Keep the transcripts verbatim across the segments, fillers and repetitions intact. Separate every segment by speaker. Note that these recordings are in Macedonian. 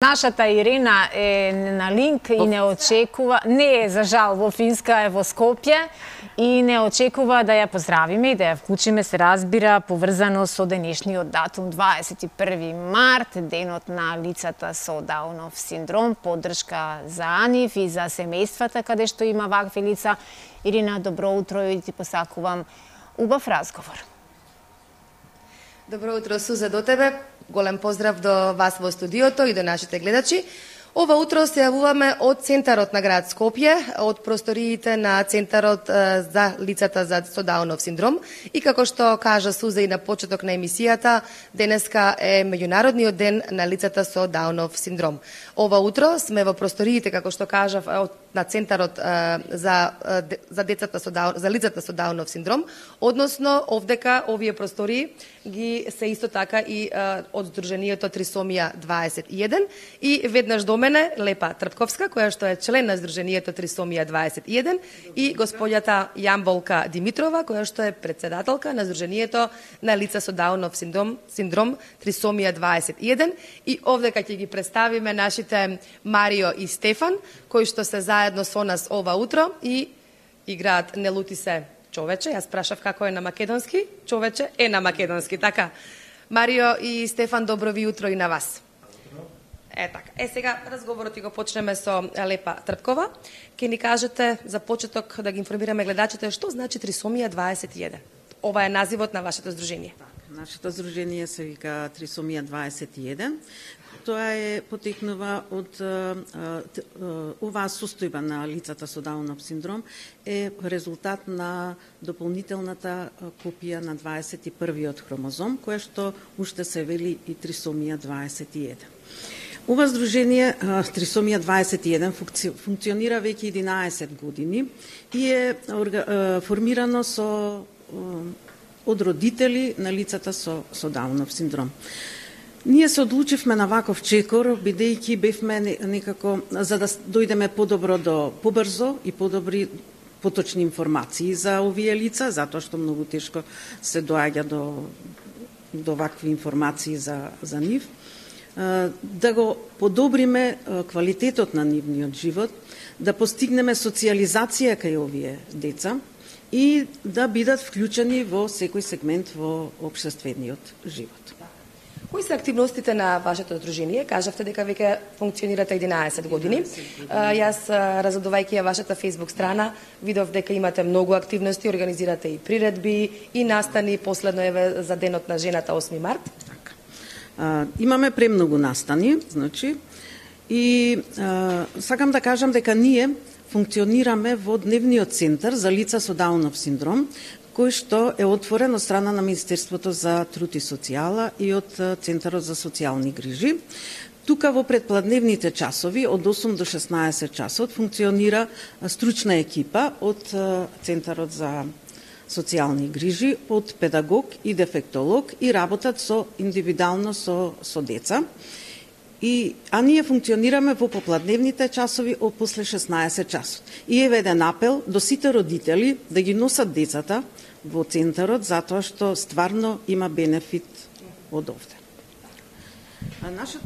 Speaker 1: Нашата Ирина е на линк и не очекува, не е за жал во Финска, е во Скопје и не очекува да ја поздравиме и да ја вклучиме, се разбира, поврзано со денешниот датум дваесет и први март, денот на лицата со Даунов синдром, поддршка за нив и за семејствата каде што има вакви лица. Ирина, добро утро и ти посакувам убав разговор.
Speaker 2: Добро утро, Суза, до тебе. Голем поздрав до вас во студиото и до нашите гледачи. Ова утро се јавуваме од центарот на град Скопје, од просториите на центарот за лицата за со Даунов синдром. И како што кажа Суза и на почеток на емисијата, денеска е меѓународниот ден на лицата со Даунов синдром. Ова утро сме во просториите, како што кажав, на центарот за за децата со Даун, за лицата со Даунов синдром, односно овдека овие простории ги се исто така и од Сдруженијето Трисомија дваесет и еден и веднаш до мене Лепа Трпковска, која што е член на Сдруженијето Трисомија дваесет и еден, и господјата Јамболка Димитрова, која што е председателка на Сдруженијето на лица со Даунов синдром, синдром Трисомија дваесет и еден, и овдека ќе ги представиме нашите Марио и Стефан, кои што се заедно со нас ова утро и играат Не лути се човече. Јас прашав како е на македонски, човече е на македонски, така. Марио и Стефан, добро ви утро и на вас. Е така. Е сега разговорот ќе го почнеме со Лепа Трпкова. Ке ни кажете за почеток да ги информираме гледачите што значи Трисомија дваесет и еден. Ова е називот на вашето здружение.
Speaker 3: Нашето здружение се вика Трисомија дваесет и еден. Тоа е потекнува од оваа состојба на лицата со Даунов синдром е резултат на дополнителната копија на дваесет и првиот хромозом, која што уште се вели и Трисомија дваесет и еден. Ова здружение Трисомија дваесет и еден функционира веќе единаесет години и е формирано со од родители на лицата со, со Даунов синдром. Ние се одлучивме на ваков чекор, бидејќи бевме некако, за да дојдеме подобро до, побрзо и подобри, поточни информации за овие лица, затоа што многу тешко се доаѓа до, до вакви информации за, за нив, да го подобриме квалитетот на нивниот живот, да постигнеме социализација кај овие деца и да бидат вклучени во секој сегмент во општествениот живот.
Speaker 2: Кои се активностите на вашето здружение? Кажавте дека веќе функционирате единаесет години. Јас, разгледувајќи ја вашата Facebook страна, видов дека имате многу активности, организирате и приредби, и настани, последно еве за денот на жената осми март.
Speaker 3: Така. А, имаме премногу настани, значи, и а, сакам да кажам дека ние функционираме во дневниот центар за лица со Даунов синдром, кој што е отворен од страна на Министерството за труд и социјала и од Центарот за социјални грижи. Тука во предпладневните часови од осум до шеснаесет часот функционира стручна екипа од Центарот за социјални грижи, од педагог и дефектолог и работат со индивидуално со, со деца. И, а ние функционираме во попладневните часови од после шеснаесет часот. И е веден апел до сите родители да ги носат децата во центарот, затоа што стварно има бенефит од овде. А нашето...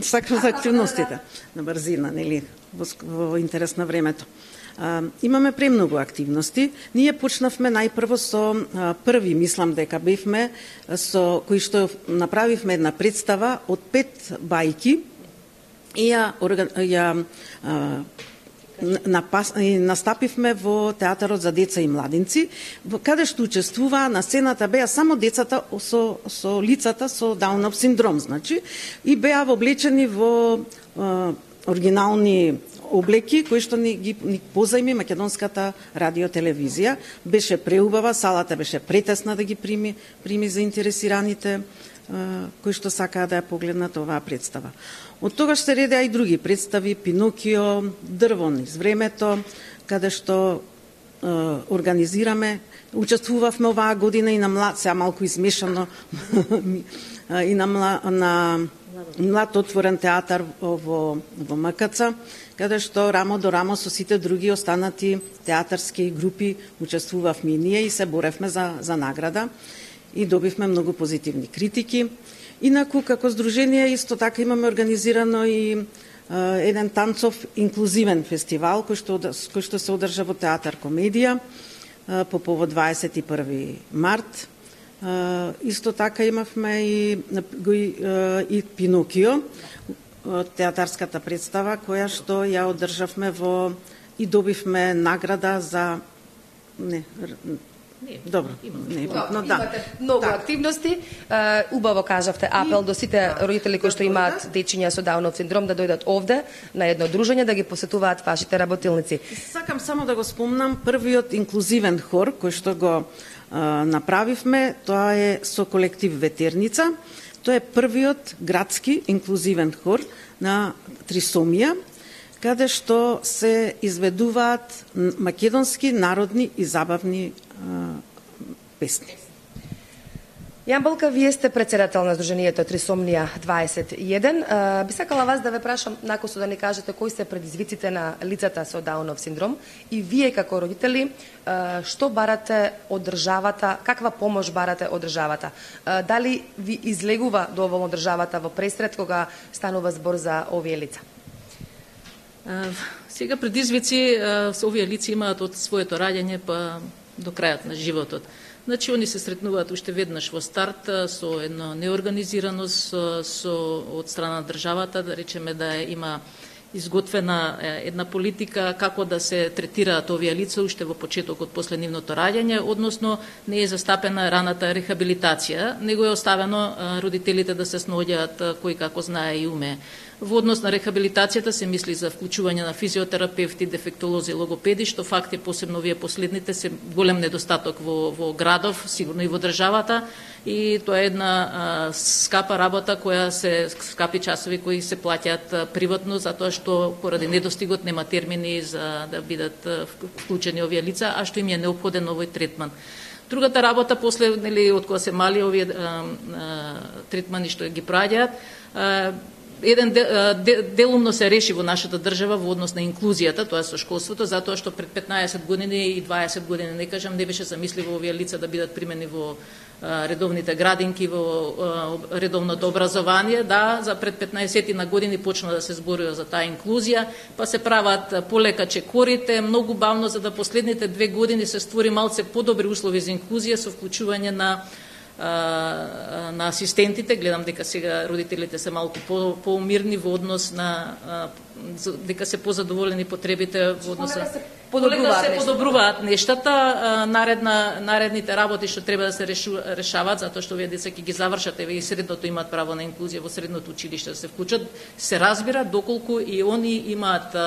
Speaker 3: Сакам за активностите на брзина, нели, во, во интерес на времето. А, имаме премногу активности. Ние почнавме најпрво со а, први, мислам дека бевме, со кои што направивме една представа од пет бајки и ја, ја а, напас, и настапивме во Театарот за деца и младинци, каде што учествуваа на сцената беа само децата со, со лицата со Даунов синдром, значи, и беа облечени во а, оригинални облеки кои што ни ги ни позајми македонската радиотелевизија. Беше преубава, салата беше претесна да ги прими прими заинтересираните кои што сакаа да ја погледнат оваа представа. Од тогаш се редеа и други представи, Пинокио, Дрво низ времето, каде што е, организираме. Учествувавме оваа година и на млад, сега малку измешано, и на, на млад отворен театар во, во МКЦ, каде што рамо до рамо со сите други останати театарски групи учествувавме и ние и се боревме за, за награда и добивме многу позитивни критики. Инаку, како здружение, исто така имаме организирано и еден танцов инклузивен фестивал кој што, кој што се одржа во Театар Комедија по повод дваесет и први март. Исто така имавме и, и Пинокио, театарската представа која што ја одржавме во и добивме награда за не
Speaker 4: Не,
Speaker 3: Добро, не,
Speaker 2: но да. Имате многу так. активности. Убаво кажавте апел до сите родители кои што имаат дечиња со Даунов синдром да дојдат овде на едно дружење да ги посетуваат вашите работилници.
Speaker 3: Сакам само да го спомнам првиот инклузивен хор кој што го а, направивме, тоа е со колектив Ветерница. Тоа е првиот градски инклузивен хор на Трисомија, каде што се изведуваат македонски народни и забавни а, песни.
Speaker 2: Јан Балка, вие сте председател на Сдруженијето Трисомнија дваесет и еден. Би сакала вас да ве прашам накусо да ни кажете кои се предизвиците на лицата со Даунов синдром и вие како родители што барате од државата, каква помош барате од државата? Дали ви излегува доволно државата во пресред кога станува збор за овие лица?
Speaker 4: Сега предизвици со овие лица имаат од своето раѓање па до крајот на животот. Значи, они се сретнуваат уште веднаш во старт со една неорганизираност со, од страна на државата, да речеме да има изготвена една политика како да се третираат овие лица уште во почетокот после нивното раѓање, односно не е застапена раната рехабилитација, него е оставено родителите да се снаоѓаат кој како знае и уме. Во однос на рехабилитацијата се мисли за вклучување на физиотерапевти, дефектолози, логопеди, што факт е посебно овие последните се голем недостаток во, во градов, сигурно и во државата, и тоа е една а, скапа работа која се скапи часови кои се плаќаат приватно затоа што поради недостигот нема термини за да бидат вклучени овие лица, а што им е неопходен овој третман. Другата работа после нели од кога се мали овие а, а, третмани што ги праќаат, еден делумно се реши во нашата држава во однос на инклузијата, тоа со школството, затоа што пред петнаесет години и дваесет години, не кажам, не беше замисливо овие лица да бидат примени во редовните градинки, во редовното образование. Да, за пред петнаесет на години почна да се зборува за таа инклузија, па се прават полека чекорите, многу бавно, за да последните две години се створи малце подобри услови за инклузија со вклучување на на асистентите. Гледам дека сега родителите се малку по, поумирни во однос на дека се позадоволени потребите во однос на
Speaker 2: подобруваат
Speaker 4: се подобруваат нештата. Наредна наредните работи што треба да се решу, решаваат затоа што овие деца ќе ги завршат, еве и средното имаат право на инклузија во средното училиште да се вклучат, се разбира доколку и они имаат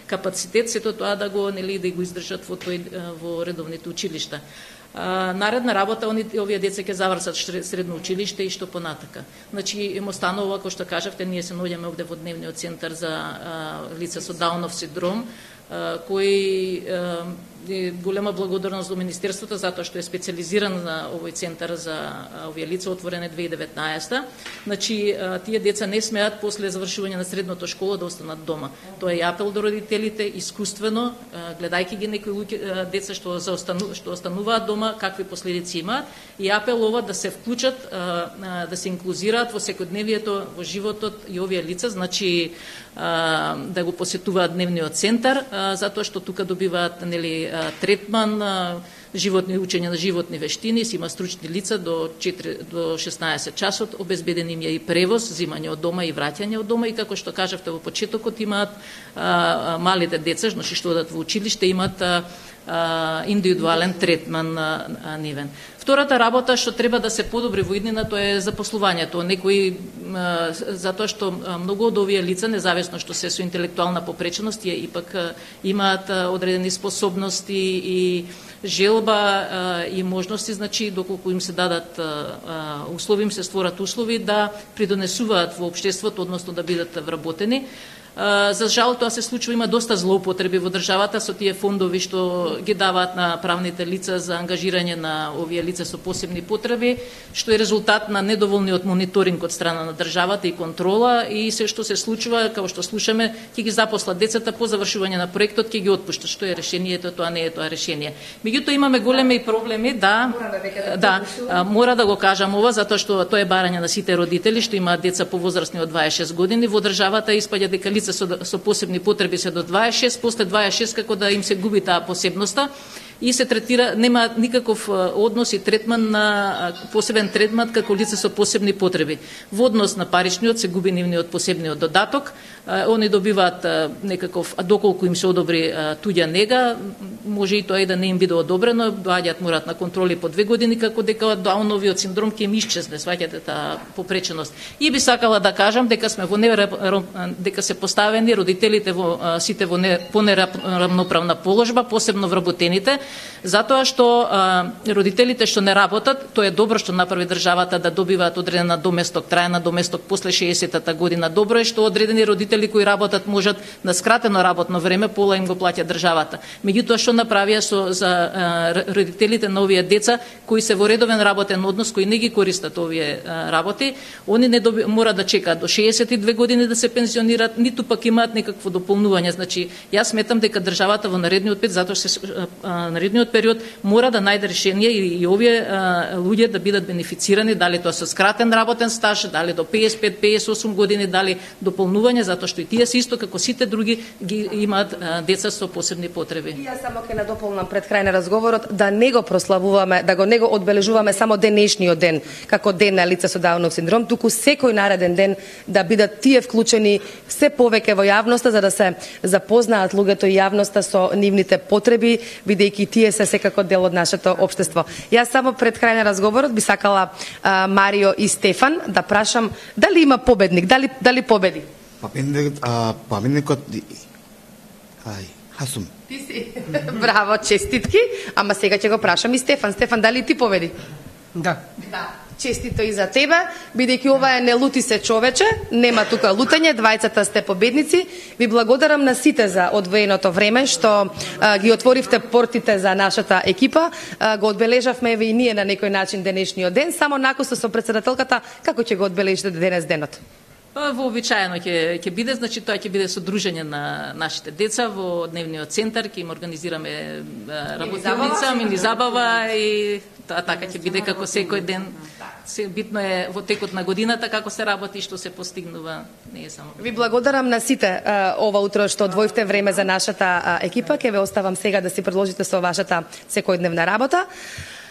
Speaker 4: капацитет сето тоа да го нели да го издржат во тој во редовните училишта. Наредна работа, они, овие деца ќе завршат средно училиште и што понатака. Значи, им останува, кој што кажавте, ние се наоѓаме овде во дневниот центар за а, лица со Даунов синдром, а, кој а, е голема благодарност до Министерството затоа што е специализиран на овој центар за овие лица, отворен е две илјади и деветнаесета. Значи, тие деца не смеат после завршување на средното школа да останат дома. Тоа е апел до родителите, искуствено, гледајќи ги некои луѓе, деца што заостану, што остануваат дома, какви последици имаат, и апел ова да се вклучат, да се инклузираат во секојдневието, во животот и овие лица, значи да го посетуваат дневниот центар, затоа што тука добиваат нели третман, животни учење на животни вештини, си има стручни лица до четири до шеснаесет часот, обезбеден им е и превоз, зимање од дома и враќање од дома, и како што кажавте во почетокот имаат а, малите деца, значи што одат во училиште, имаат а, а, индивидуален третман а, а, нивен. Втората работа што треба да се подобри во иднина, тоа е запослувањето. Некои а, затоа што многу од овие лица, независно што се со интелектуална попреченост, тие ипак а, имаат а, одредени способности и желба а, и можности, значи доколку им се дадат а, услови, им се створат услови да придонесуваат во општеството, односно да бидат вработени. За жал тоа се случува, има доста злоупотреби во државата со тие фондови што ги даваат на правните лица за ангажирање на овие лица со посебни потреби, што е резултат на недоволниот мониторинг од страна на државата и контрола, и се што се случува, како што слушаме, ќе ги запослат децата по завршување на проектот, ќе ги отпуштат. Што е решението, тоа не е тоа решение. Меѓутоа имаме големи проблеми, да, да, мора да го кажам ова, затоа што тоа е барање на сите родители што имаат деца по возрастни од дваесет и шест години. Во државата испаѓа дека лица со, со посебни потреби се до дваесет и шест, после дваесет и шест како да им се губи таа посебноста и се третира, нема никаков однос и третман на посебен третман како лица со посебни потреби. Во однос на паричниот се губи нивниот посебниот додаток, они добиваат некаков, а доколку им се одобри туѓа нега, може и тоа и да не им биде одобрено, доаѓаат морат на контроли по две години, како дека Дауновиот синдром ќе им исчезне, сваќате таа попреченост. И би сакала да кажам дека сме во дека се поставени родителите во сите во не, по неравноправна положба, посебно вработените, затоа што а, родителите што не работат, тоа е добро што направи државата да добиваат одредена доместок, трајна доместок после шеесеттата година. Добро е што одредени родители кои работат можат на скратено работно време, пола им го плаќа државата. Меѓутоа што направија со за а, родителите на овие деца кои се во редовен работен однос, кои не ги користат овие а, работи, они не доби, мора да чекаат до шеесет и две години да се пензионираат, ниту пак имаат некакво дополнување. Значи, јас сметам дека државата во наредниот пет, затоа се а, наредниот период мора да најде решение и, и овие а, луѓе да бидат бенефицирани, дали тоа со скратен работен стаж, дали до пеесет и пет пеесет и осум години, дали дополнување, затоа што и тие се исто како сите други ги имаат а, деца со посебни потреби.
Speaker 2: И јас само ќе надополнам пред крај на разговорот да не го прославуваме, да го не го одбележуваме само денешниот ден како ден на лица со Даунов синдром, туку секој нареден ден да бидат тие вклучени се повеќе во јавноста за да се запознаат луѓето и јавноста со нивните потреби, бидејќи тие се секако дел од нашето општество. Јас само пред крај на разговорот би сакала а, Марио и Стефан да прашам дали има победник, дали дали победи?
Speaker 5: Победникот, а победникот ај, Хасум.
Speaker 2: Ти си. Браво, честитки. Ама сега ќе го прашам и Стефан. Стефан, дали ти победи?
Speaker 6: Да.
Speaker 2: Да. Честито и за тебе, бидејќи ова е не лути се човече, нема тука лутање, двајцата сте победници. Ви благодарам на сите за одвоеното време што а, ги отворивте портите за нашата екипа. А, го одбележавме еве и ние на некој начин денешниот ден, само накусо со председателката, како ќе го одбележите денес денот?
Speaker 4: Вообичаено ќе ќе биде, значи тоа ќе биде со дружење на нашите деца во дневниот центар, ќе им организираме работилница, мини забава и тоа така ќе биде како секој ден. Се битно е во текот на годината како се работи и што се постигнува, не е само.
Speaker 2: Ви благодарам на сите а, ова утро што одвоивте време за нашата а, екипа. Ќе ве оставам сега да си продолжите со вашата секојдневна работа.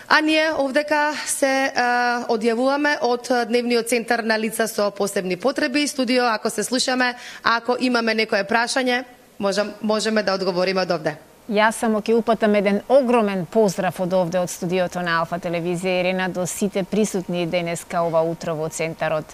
Speaker 2: А ние овдека се а, одјавуваме од Дневниот центар на лица со посебни потреби. Студио, ако се слушаме, ако имаме некое прашање, можем, можеме да одговориме од овде.
Speaker 1: Јас само ќе упатам еден огромен поздрав од овде од студиото на Алфа телевизија Ирена до сите присутни денеска ова утро во центарот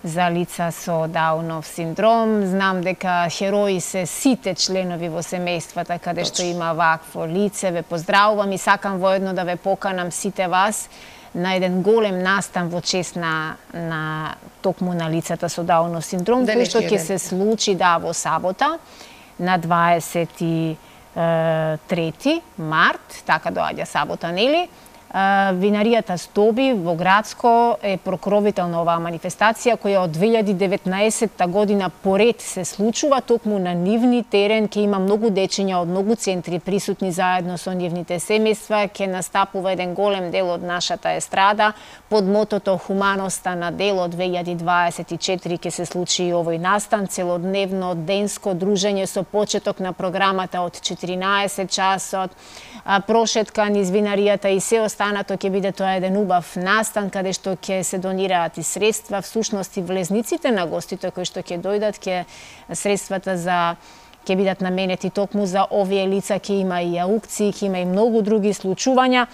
Speaker 1: за лица со Даунов синдром. Знам дека херои се сите членови во семејствата каде што има вакво лице. Ве поздравувам и сакам воедно да ве поканам сите вас на еден голем настан во чест на, на токму на лицата со Даунов синдром, кој што ќе се случи да во сабота на дваесет и трети март, така доаѓа сабота, нели? Винаријата Стоби во Градско е прокровител на оваа манифестација која од две илјади и деветнаесетта година поред се случува токму на нивни терен. Ке има многу дечиња од многу центри присутни заедно со нивните семејства. Ке настапува еден голем дел од нашата естрада под мотото Хуманоста на дело две илјади дваесет и четири. Ке се случи и овој настан, целодневно денско дружење со почеток на програмата од четиринаесет часот, прошетка низ винаријата и се останато ќе биде тоа еден убав настан каде што ќе се донираат и средства, всушност и влезниците на гостите кои што ќе дојдат, ќе средствата за ќе бидат наменети токму за овие лица, ќе има и аукции, ќе има и многу други случувања.